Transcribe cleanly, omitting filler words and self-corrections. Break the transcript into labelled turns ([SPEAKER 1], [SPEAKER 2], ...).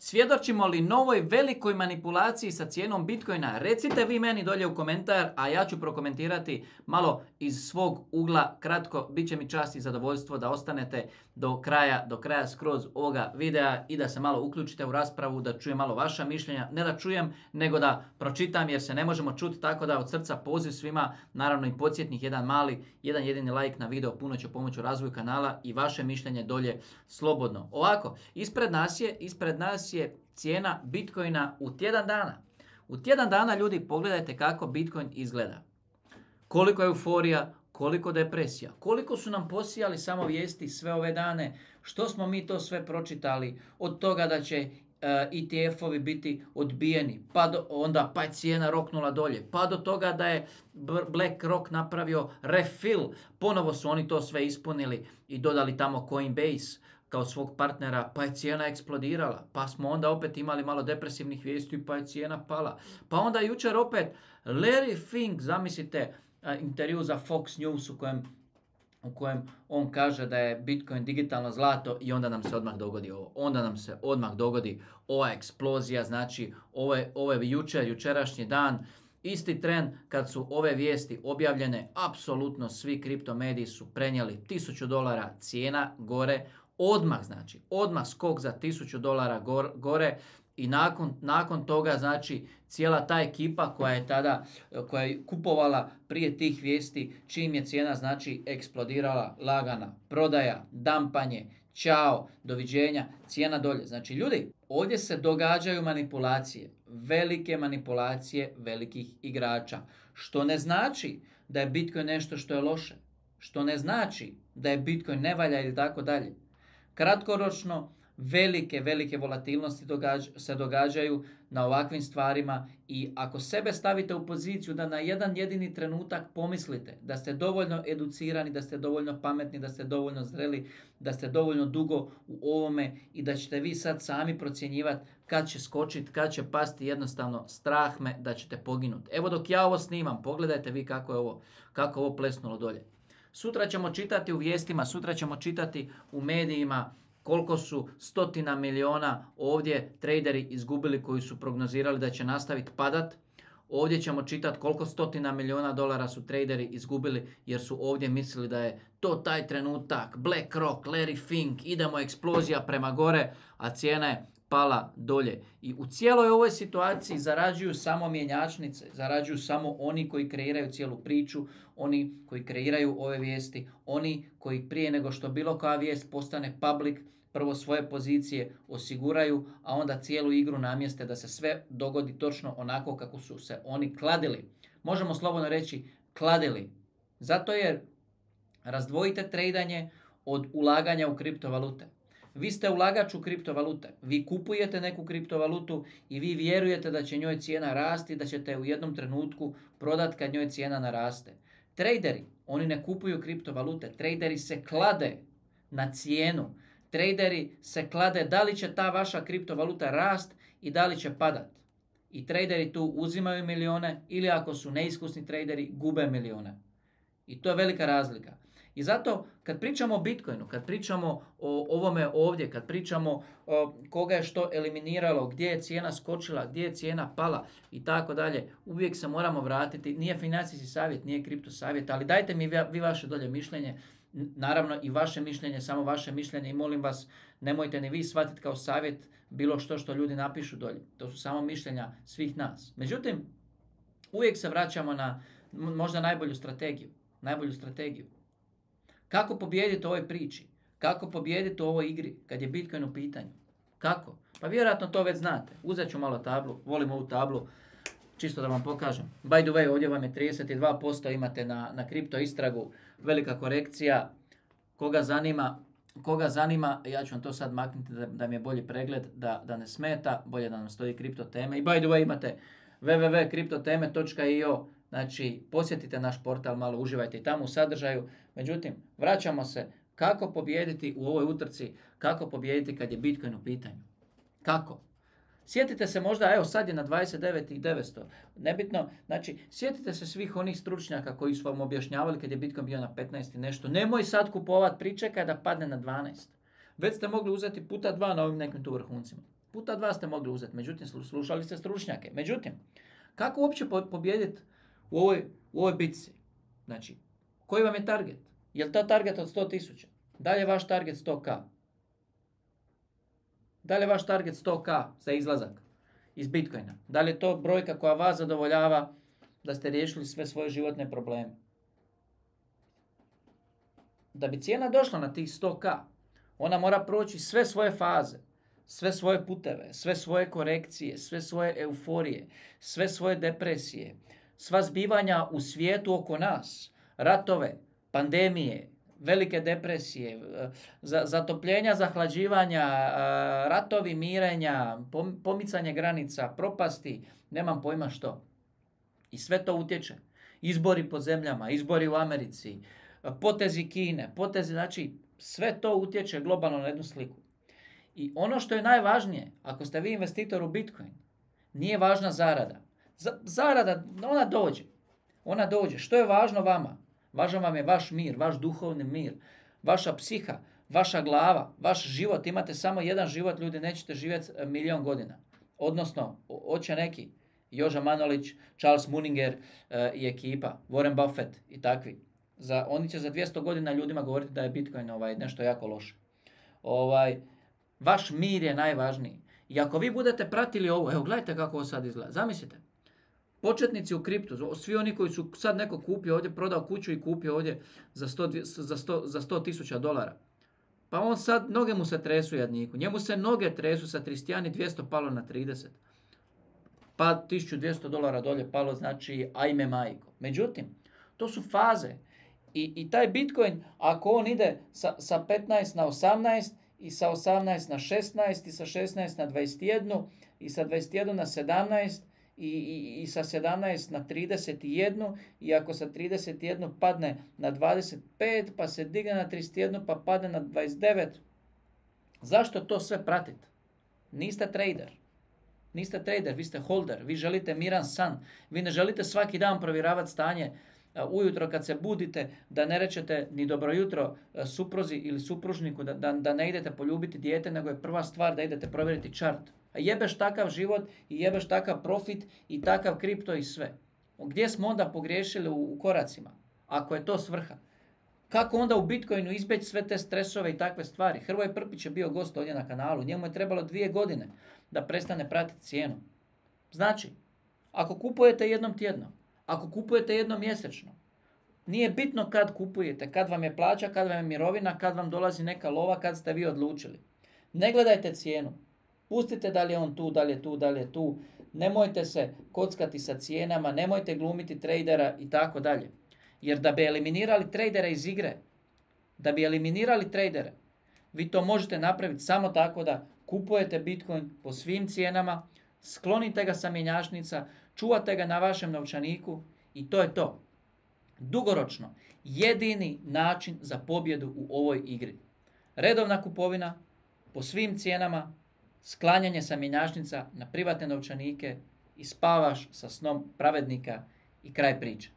[SPEAKER 1] Svjedočimo li novoj velikoj manipulaciji sa cijenom Bitcoina? Recite vi meni dolje u komentar, a ja ću prokomentirati malo iz svog ugla kratko. Biće mi čast i zadovoljstvo da ostanete do kraja skroz ovoga videa i da se malo uključite u raspravu, da čujem malo vaša mišljenja. Ne da čujem, nego da pročitam jer se ne možemo čuti, tako da od srca poziv svima, naravno i podsjetnik, jedan jedini like na video puno će pomoći u razvoju kanala i vaše mišljenje dolje slobodno. Ovako, ispred nas je cijena Bitcoina u tjedan dana. U tjedan dana, ljudi, pogledajte kako Bitcoin izgleda. Koliko je euforija, koliko depresija, koliko su nam posijali samo vijesti sve ove dane, što smo mi to sve pročitali, od toga da će ETF-ovi biti odbijeni, pa je cijena roknula dolje, pa do toga da je BlackRock napravio refill, ponovo su oni to sve ispunili i dodali tamo Coinbase kao svog partnera, pa je cijena eksplodirala, pa smo onda opet imali malo depresivnih vijesti, pa je cijena pala. Pa onda jučer opet Larry Fink, zamislite, intervju za Fox News u kojem on kaže da je Bitcoin digitalno zlato i onda nam se odmah dogodi ovo. Onda nam se odmah dogodi ova eksplozija, znači ovo je jučerašnji dan, isti tren kad su ove vijesti objavljene, apsolutno svi kriptomediji su prenijeli $1000 cijena gore, odmah skok za $1000 gore i nakon toga, znači, cijela ta ekipa koja je kupovala prije tih vijesti, čim je cijena, znači, eksplodirala, lagana prodaja, dampanje, ćao, doviđenja, cijena dolje. Znači, ljudi, ovdje se događaju manipulacije, velike manipulacije velikih igrača, što ne znači da je Bitcoin nešto što je loše, što ne znači da je Bitcoin ne valja ili tako dalje. Kratkoročno, velike volatilnosti se događaju na ovakvim stvarima i ako sebe stavite u poziciju da na jedan jedini trenutak pomislite da ste dovoljno educirani, da ste dovoljno pametni, da ste dovoljno zreli, da ste dovoljno dugo u ovome i da ćete vi sad sami procjenjivati kad će skočiti, kad će pasti, jednostavno strah me da ćete poginuti. Evo dok ja ovo snimam, pogledajte vi kako je ovo plesnulo dolje. Sutra ćemo čitati u vijestima, sutra ćemo čitati u medijima koliko su stotina miliona ovdje traderi izgubili koji su prognozirali da će nastaviti padat. Ovdje ćemo čitati koliko stotina miliona dolara su traderi izgubili jer su ovdje mislili da je to taj trenutak, BlackRock, Larry Fink, idemo eksplozija prema gore, a cijena je pala dolje. I u cijeloj ovoj situaciji zarađuju samo mjenjačnice, zarađuju samo oni koji kreiraju cijelu priču, oni koji kreiraju ove vijesti, oni koji prije nego što bilo koja vijest postane public, prvo svoje pozicije osiguraju, a onda cijelu igru namjeste da se sve dogodi točno onako kako su se oni kladili. Možemo slobodno reći kladili. Zato jer razdvojite tradanje od ulaganja u kriptovalute. Vi ste ulagač u kriptovalute. Vi kupujete neku kriptovalutu i vi vjerujete da će njoj cijena rasti, da ćete u jednom trenutku prodati kad njoj cijena naraste. Traderi, oni ne kupuju kriptovalute. Traderi se klade na cijenu. Traderi se klade da li će ta vaša kriptovaluta rast i da li će padat. I traderi tu uzimaju milijone ili ako su neiskusni traderi gube milijone. I to je velika razlika. I zato kad pričamo o Bitcoinu, kad pričamo o ovome ovdje, kad pričamo o koga je što eliminiralo, gdje je cijena skočila, gdje je cijena pala i tako dalje, uvijek se moramo vratiti. Nije financijski savjet, nije kripto savjet, ali dajte mi vi vaše dolje mišljenje. Naravno i vaše mišljenje, samo vaše mišljenje i molim vas nemojte ni vi shvatiti kao savjet bilo što ljudi napišu dolje. To su samo mišljenja svih nas. Međutim, uvijek se vraćamo na možda najbolju strategiju. Kako pobijediti u ovoj priči? Kako pobijediti u ovoj igri kad je Bitcoin u pitanju? Kako? Pa vjerojatno to već znate. Uzet ću malo tablu, volim ovu tablu, čisto da vam pokažem. By the way, ovdje vam je 32%, imate na kripto istragu, velika korekcija. Koga zanima, ja ću vam to sad maknuti da mi je bolji pregled, da ne smeta, bolje da nam stoji kripto teme. I by the way, imate www.kriptoteme.io, znači posjetite naš portal, malo uživajte i tamo u sadržaju. Međutim, vraćamo se kako pobijediti u ovoj utrci, kako pobijediti kad je Bitcoin u pitanju. Kako? Sjetite se možda, evo sad je na 29.900, nebitno, znači sjetite se svih onih stručnjaka koji su vam objašnjavali kad je Bitcoin bio na 15 i nešto. Nemoj sad kupovat, pričekaj da padne na 12. Već ste mogli uzeti puta 2 na ovim nekim tu vrhuncima. Puta 2 ste mogli uzeti, međutim slušali ste stručnjake. Međutim, kako uopće pobijediti u ovoj bitci? Znači, koji vam je target? Je li to target od 100.000? Da li je vaš target 100k? Da li je vaš target 100k za izlazak iz Bitcoina? Da li je to brojka koja vas zadovoljava da ste riješili sve svoje životne probleme? Da bi cijena došla na tih 100k, ona mora proći sve svoje faze, sve svoje puteve, sve svoje korekcije, sve svoje euforije, sve svoje depresije, sva zbivanja u svijetu oko nas, ratove, pandemije, velike depresije, zatopljenja, zahlađivanja, ratovi, mirenja, pomicanje granica, propasti, nemam pojma što. I sve to utječe. Izbori po zemljama, izbori u Americi, potezi Kine, znači sve to utječe globalno na jednu sliku. I ono što je najvažnije, ako ste vi investitor u Bitcoin, nije važna zarada. Zarada, ona dođe. Što je važno vama? Važan vam je vaš mir, vaš duhovni mir, vaša psiha, vaša glava, vaš život. Imate samo jedan život, ljudi, nećete živjeti 1.000.000 godina. Odnosno, hoće neki, Joža Manolić, Charles Muninger i ekipa, Warren Buffett i takvi. Oni će za 200 godina ljudima govoriti da je Bitcoin nešto jako loše. Vaš mir je najvažniji. I ako vi budete pratili ovo, evo gledajte kako ovo sad izgleda. Zamislite, početnici u kriptu, svi oni koji su sad neko kupio ovdje, prodao kuću i kupio ovdje za $100,000. Pa on sad, noge mu se tresu jadniku. Njemu se noge tresu sa 31.200 palo na 30. Pa $1.200 dolje palo, znači ajme majko. Međutim, to su faze. I taj Bitcoin, ako on ide sa 15 na 18, i sa 18 na 16, i sa 16 na 21, i sa 21 na 17, i sa 17 na 31, i ako sa 31 padne na 25, pa se digne na 31, pa padne na 29. Zašto to sve pratite? Niste trader. Niste trader, vi ste holder, vi želite miran san, vi ne želite svaki dan provjeravati stanje ujutro kad se budite, da ne rečete ni dobro jutro supruzi ili supružniku, da ne idete poljubiti dijete, nego je prva stvar da idete provjeriti chart. A jebeš takav život i jebeš takav profit i takav kripto i sve. Gdje smo onda pogriješili u koracima, ako je to svrha? Kako onda u Bitcoinu izbjeći sve te stresove i takve stvari? Hrvoje Prpić je bio gost ovdje na kanalu, njemu je trebalo 2 godine da prestane pratiti cijenu. Znači, ako kupujete jednom tjedno, ako kupujete jednom mjesečno, nije bitno kad kupujete, kad vam je plaća, kad vam je mirovina, kad vam dolazi neka lova, kad ste vi odlučili. Ne gledajte cijenu. Pustite da li je on tu, da li je tu, da li je tu. Nemojte se kockati sa cijenama, nemojte glumiti tradera i tako dalje. Jer da bi eliminirali tradere iz igre, vi to možete napraviti samo tako da kupujete Bitcoin po svim cijenama, sklonite ga sa mjenjačnica, čuvate ga na vašem novčaniku i to je to. Dugoročno, jedini način za pobjedu u ovoj igri. Redovna kupovina po svim cijenama, sklanjanje sa mjenjačnica na privatne novčanike i spavaš sa snom pravednika i kraj priče.